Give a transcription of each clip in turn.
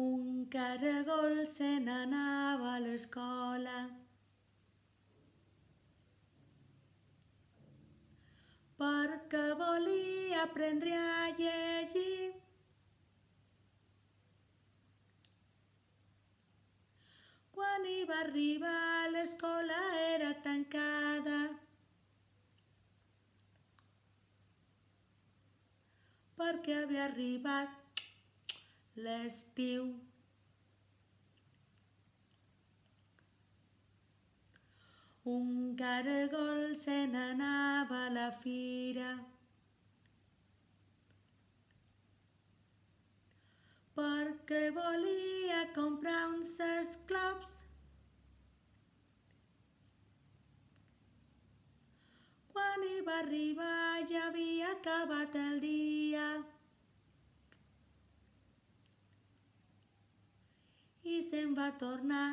Un caragol se n'anava a l'escola. Perquè volia aprendre a llegir. Quan hi va arribar, l'escola era tancada. Perquè havia arribat l'estiu. Un caragol se n'anava a la fira. Perquè volia comprar uns esclops. Quan hi va arribar ja havia acabat el dia. I se'n va tornar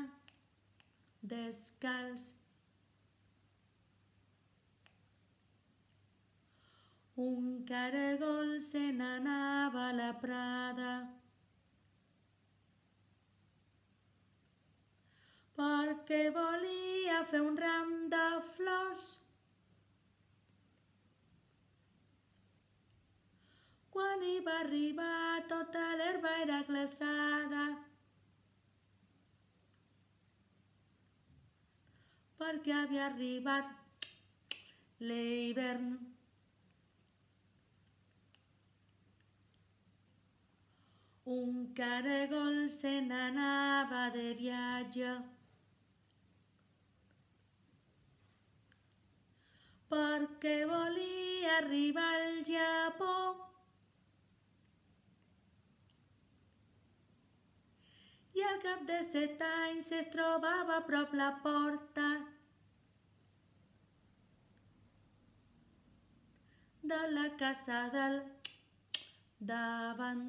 descalç. Un caragol se n'anava a la prada. Perquè volia fer un ram de flors. Quan hi va arribar tota l'herba era glaçada. Perquè havia arribat l'hivern. Un caragol se n'anava de viatge. Perquè volia arribar al Japó. I al cap de 7 anys es trobava a prop la porta de la casa del davant.